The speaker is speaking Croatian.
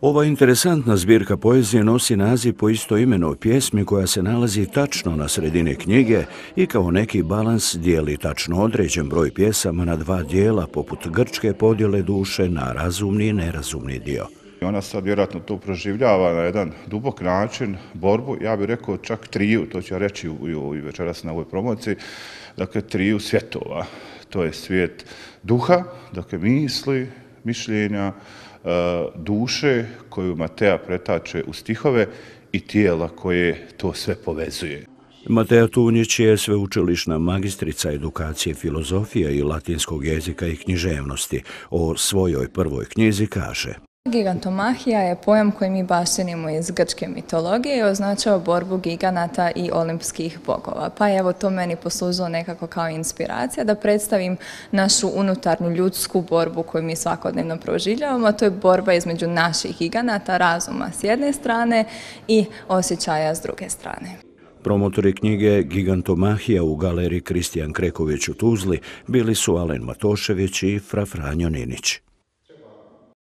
Ova interesantna zbirka poezije nosi naziv po istoimenoj pjesmi koja se nalazi tačno na sredini knjige i kao neki balans dijeli tačno određen broj pjesama na dva dijela poput grčke podjele duše na razumni i nerazumni dio. Ona sad vjerojatno to proživljava na jedan dubok način, borbu, ja bih rekao čak triju, to ću ja reći i večeras na ovoj promociji, dakle triju svjetova. To je svijet duha, dakle misli, mišljenja, duše koju Matea pretače u stihove i tijela koje to sve povezuje. Matea Tunjić je sveučilišna magistrica edukacije filozofije i latinskog jezika i književnosti. O svojoj prvoj knjizi kaže: Gigantomahija je pojam koji mi baštinimo iz grčke mitologije i označava borbu giganata i olimpskih bogova. Pa evo to meni poslužilo nekako kao inspiracija da predstavim našu unutarnju ljudsku borbu koju mi svakodnevno proživljavamo, a to je borba između naših giganata, razuma s jedne strane i osjećaja s druge strane. Promotori knjige Gigantomahija u galeriji Kristijan Kreković u Tuzli bili su Alen Matošević i fra Franjo Ninić.